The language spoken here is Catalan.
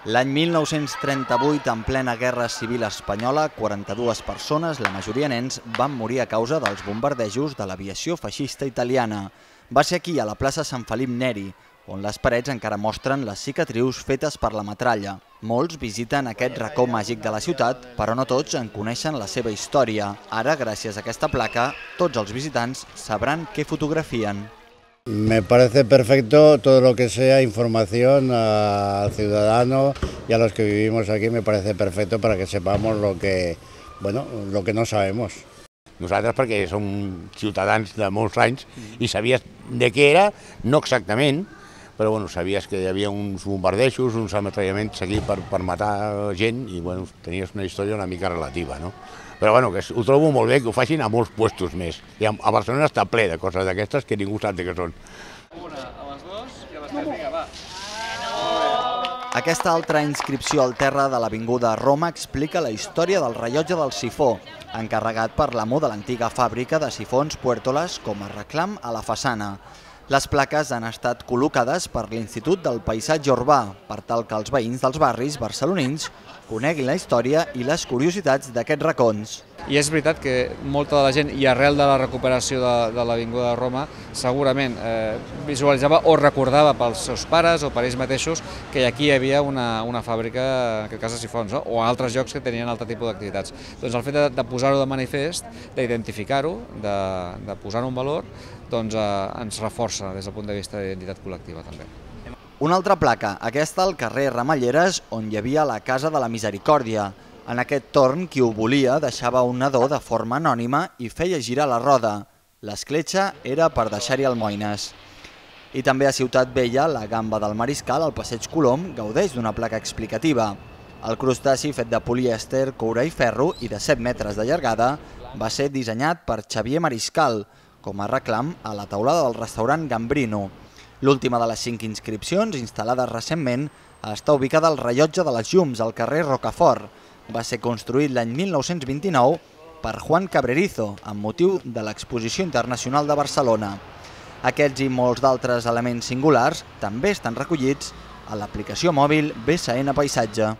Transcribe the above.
L'any 1938, en plena Guerra Civil Espanyola, 42 persones, la majoria nens, van morir a causa dels bombardejos de l'aviació feixista italiana. Va ser aquí, a la plaça Sant Felip Neri, on les parets encara mostren les cicatrius fetes per la metralla. Molts visiten aquest racó màgic de la ciutat, però no tots en coneixen la seva història. Ara, gràcies a aquesta placa, tots els visitants sabran què fotografien. Me parece perfecto todo lo que sea información al ciudadano y a los que vivimos aquí, me parece perfecto para que sepamos lo que no sabemos. Nosaltres perquè som ciutadans de molts anys i sabies de què era, no exactament, però sabies que hi havia uns bombardejos, uns ametrallaments aquí per matar gent i tenies una història una mica relativa, no? Però que ho trobo molt bé que ho facin a molts puestos més. I a Barcelona està ple de coses d'aquestes que ningú sap de què són. Una, a les dues i a les tres, vinga, va. Aquesta altra inscripció al terra de l'Avinguda Roma explica la història del rellotge del sifó, encarregat per l'amo de l'antiga fàbrica de sifons Puertolas com a reclam a la façana. Les plaques han estat col·locades per l'Institut del Paisatge Urbà, per tal que els veïns dels barris barcelonins coneguin la història i les curiositats d'aquests racons. I és veritat que molta de la gent, i arrel de la recuperació de l'Avinguda de Roma, segurament visualitzava o recordava pels seus pares o per ells mateixos que aquí hi havia una fàbrica, en aquest cas de sifons, o altres llocs que tenien altre tipus d'activitats. Doncs el fet de posar-ho de manifest, d'identificar-ho, de posar-ho en valor, doncs ens reforça des del punt de vista d'identitat col·lectiva també. Una altra placa, aquesta al carrer Ramelleres, on hi havia la Casa de la Misericòrdia. En aquest torn, qui ho volia deixava un nadó de forma anònima i feia girar la roda. L'escletxa era per deixar-hi almoines. I també a Ciutat Vella, la Gamba del Mariscal, al Passeig Colom, gaudeix d'una placa explicativa. El crustaci fet de polièster, coure i ferro i de 7 metres de llargada va ser dissenyat per Xavier Mariscal, com a reclam a la taulada del restaurant Gambrino. L'última de les 5 inscripcions, instal·lades recentment, està ubicada al rellotge de les Llums, al carrer Rocafort. Va ser construït l'any 1929 per Juan Cabrerizo, amb motiu de l'Exposició Internacional de Barcelona. Aquests i molts d'altres elements singulars també estan recollits a l'aplicació mòbil BSN Paisatge.